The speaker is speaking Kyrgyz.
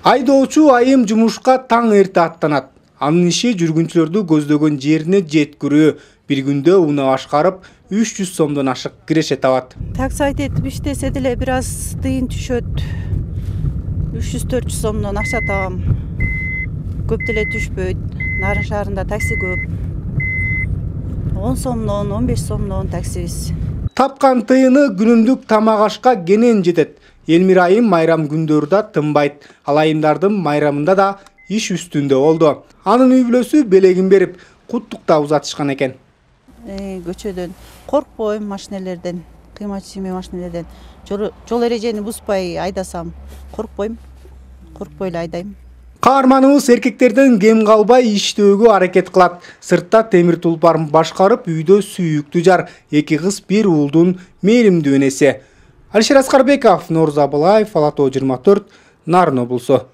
Айдоочу айым жумушка таң эрте аттанат. Анын иши жүргүнчүлөрдү көздөгөн жерине жеткирүү. Бир күндө уна башкарып 300 сомдон ашык киреше табат. Такси айтып иштесе деле бир аз тыйын түшөт. 300-400 сомдон акча табам. Көп деле түшпөйт. Нарын шаарында такси көп. 10 сомдон, 15 сомдон таксибиз. Тапкан тыйыны күнүмдүк тамак ашка кенен жетет. Элмира айым майрам күндөрдө тынбайт. Ал айымдардын майрамында да иш үстүндө болду. Анын үй бүлөсү белегин берип, куттуктап узатышкан экен. Көчөдөн коркпойм, машинелерден, кыймат чийме машинелерден. Жол эрежени бузбай айдасам коркпойм. Коркпой эле айдайм. Каарманыбыз эркектерден кем калбай иштөөгө аракет кылат. Сыртта темир тулпарын башкарып, үйдө сүйүктүү жар, 2 кыз, 1 уулдун мээримдүү энеси. Алишер Аскарбеков, Нооруз Абылаев, Ала Тоо 24, Нарын облусу.